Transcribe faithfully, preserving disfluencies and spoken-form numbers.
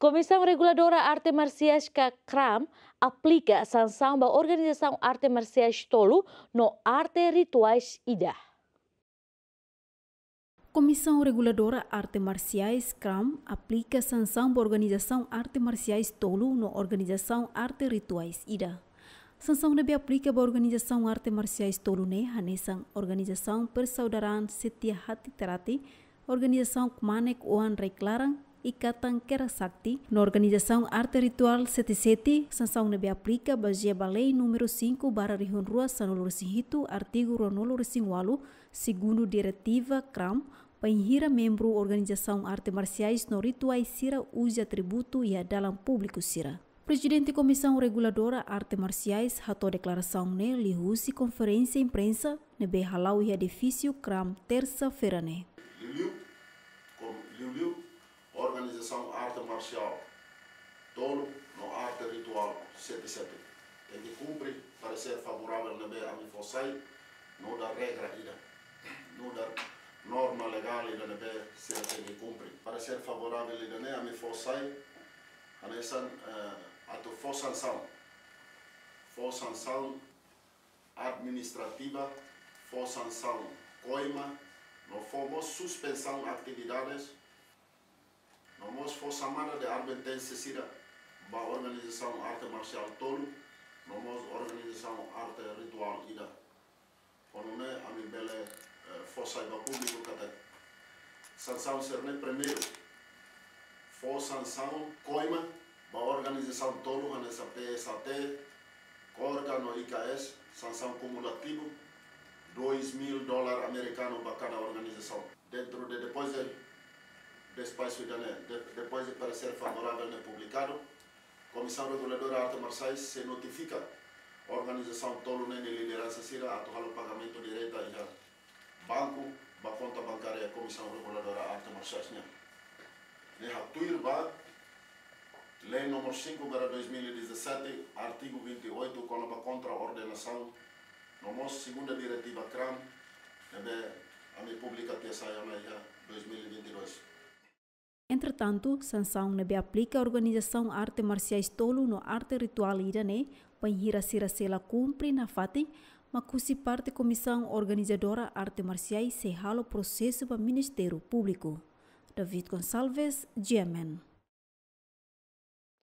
Komisaun Reguladora Arte Marsiais ka KRAM aplika sansaun ba organizasaun arte marsiais tolu no arte rituais ida. Komisaun Reguladora Arte Marsiais, KRAM, aplika sansaun ba organizasaun arte marsiais tolu no organizasaun arte rituais ida. Sansaun ne'ebé aplika ba organizasaun arte marsiais tolu ne'e hanesan organizasaun Persaudaraan Setia Hati Terate, organizasaun Kmanek Oan Reklaran, Ikatan Kera Sakti, no organizasaun arte rituál Sete Sete. Sansaun ne'ebé aplika bazeia ba lei númeru cinco barra rihun rua sanulu resin hitu, artigu ruanulu resin ualu, segundu diretiva KRAM, bainhira membru organizasaun arte marsiais no rituais sira uza atributu iha dalan públiku sira. Prezidente Komisaun Reguladora Arte Marsiais hato'o deklarasaun ne'e liuhusi konferénsia imprensa ne'ebé hala'o iha edifísiu KRAM tersa-feira ne'e. Liuliu, kom-, liuliu, organizasaun arte marsiál tolu no arte rituál Sete Sete tenke kumpre paresér favoravel ne'ebé ami fó sai, nu'udar regra ida, nu'udar norma legál ida ne'ebé sira tenke kumpre. Paresér favoravel ida-ne'e ami fó sai hanesan, eh, atu fó sansaun. Fó sansaun administrativa, fó sansaun koima, no fó mós suspensaun atividades, no mós fó xamada de arbentense sira ba organizasaun arte marsiál tolu, no mós organizasaun arte rituál ida. Ho nune'e ami bele, eh, fó sai ba públiku katak sansaun sira-ne'e primeiru, fó sansaun koima ba organizasaun tolu hanesan P S A T, KORKA no I K S, sansaun kumulativu dois mil dólar amerikanu ba kada organizasaun. Dentru de, depois de despaxu ida-ne'e, de, depois de paresér favoravel ne'e publikadu, Komisaun Reguladora Arte Marsiais sei notifika organizasaun tolu ne'e nia lideransa sira atu halo pagamentu direta iha banku ba konta bankária Komisaun Reguladora Arte Marsiais nian. Ne'e haktuir ba lei númeru cinco barra dois mil e dezassete, artigu vinte e oito, kona-ba kontra-ordenasaun, no mós segunda diretiva KRAM, ne'ebé ami publika tiha sai ona iha dois mil e vinte e dois. Entretantu, sansaun ne'ebé aplika organizasaun arte marsiais tolu no arte rituál ida-ne'e, bainhira sira sei la kumpre nafatin, mak husi parte Komisaun Organizadora Arte Marsiais sei halo prosesu ba Ministériu Públiku. David Gonçalves, G M N.